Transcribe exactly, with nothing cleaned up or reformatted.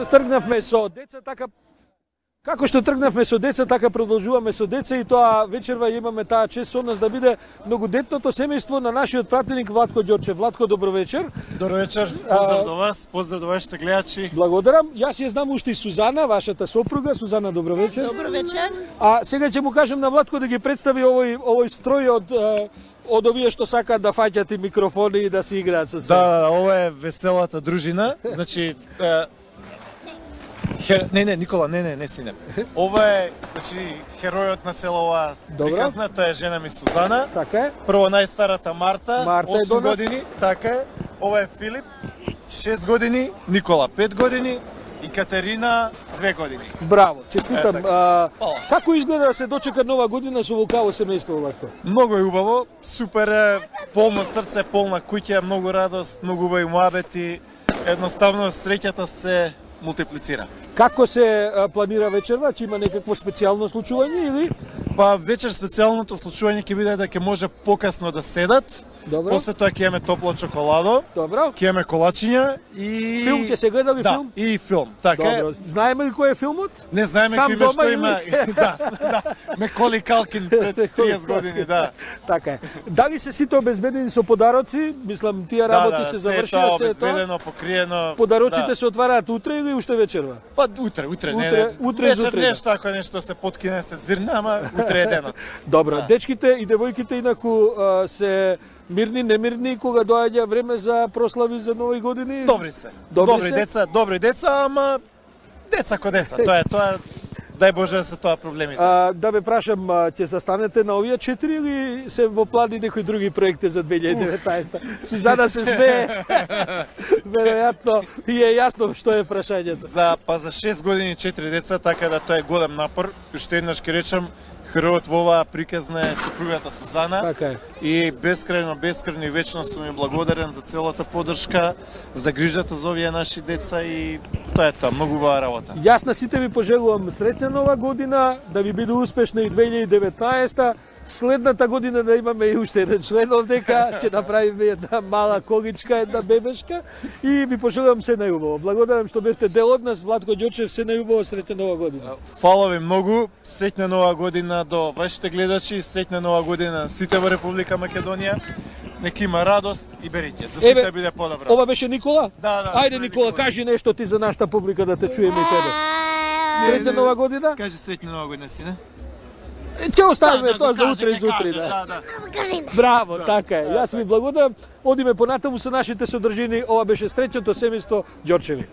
што тргнавме со деца, така како што тргнавме со деца, така продолжуваме со деца и тоа вечерва имаме таа чест со нас да биде многодетното семејство на нашиот пратеник Владко Ѓорчев. Владко, добро вечер. Добро вечер. Поздрав до вас, поздрав до вашите гледачи. Благодарам. Јас ја знам уште и Сузана, вашата сопруга. Сузана, добро вечер. Добро вечер. А сега ќе му кажам на Владко да ги представи овој овој строј од од овие што сакаат да фаќат и микрофони и да се играат со се. Да, ова е веселата дружина. Значи е, Хер... Не, не, Никола, не, не, не сине. Ова е, значи, херојот на цела оваа приказна, тоа е жена ми Сузана. Така е. Прво најстарата Марта, Марта е до осум нас. години, така е. Ова е Филип, шест години, Никола пет години и Катерина две години. Браво, честитам. Е, а, Фала. како изгледа да се дочека нова година со вулкаво семејство, Владко? Многу е убаво, супер е, полно срце, полна куќа, многу радост, многу убави муабети. Едноставно среќата се мултиплицира. Како се а, планира вечерва? Ќе има некакво специјално случување или? Па вечер специјалното случување ќе биде да ќе може покасно да седат. Добро. После тоа ќе имаме топло чоколадо. Добро. Ќе имаме колачиња и Филм ќе се гледа ли да, филм? и филм. Така е. Добро. Знаеме ли кој е филмот? Не знаеме Сам кој дома што или? има. Да, да. Меколи Калкин пред триесет години, да. Така е. Дали се сите обезбедени со подароци? Мислам, тие Да, работи да, се се е завршија, тоа се е тоа. обезбедено, покриено. Подароците да. се отвараат утре или уште вечерва? Па утре, утре, не, Утре- не. утре Вечер зутре, нешто, ако нешто се подкине, се зирне, ама утре е денот. Добро, Да. дечките и девојките инаку а, се мирни, немирни кога доаѓа време за прослави за нови години? Добри се. Добри Добри се? деца, добри деца, ама деца ко деца. Тоа е, тоа е, дај Боже да се тоа проблемите. А, да ве прашам, а, ќе застанете на овие четири или се во плани некои други проекти за две илјади и деветнаесета? Сузана се смее. Веројатно и е јасно што е прашањето. За па за шест години четири деца, така да тоа е голем напор. Уште еднаш ќе речам, херојот во оваа приказна е сопругата Сузана. Така е. И бескрајно, бескрајно и вечно сум им благодарен за целата поддршка, за грижата за овие наши деца и тоа е тоа, многу убава работа. Јас на сите ви пожелувам среќна нова година, да ви биде успешна и две илјади и деветнаесета. Следната година да имаме и уште еден член овдека, ќе направиме една мала количка, една бебешка и ви пожелувам се најубаво. Благодарам што бевте дел од нас, Владко Ѓорчев, се најубаво, среќна нова година. Фала ви многу, среќна нова година до вашите гледачи, среќна нова година на сите во Република Македонија. Нека има радост и берење. За сите Еве, да биде подобро. Ова беше Никола? Да, да. Ајде, тоа е Никола, кажи нешто ти за нашата публика да те чуеме и тебе. Среќна нова година? Кажи среќна нова година, сине. Е, Ќе оставиме Да, да, тоа го за каже, утре и ќе за утре. каже, Да. да, да. Браво, така е. Јас ви благодарам. Одиме понатаму со нашите содржини. Ова беше среќното семејство Ѓорчеви.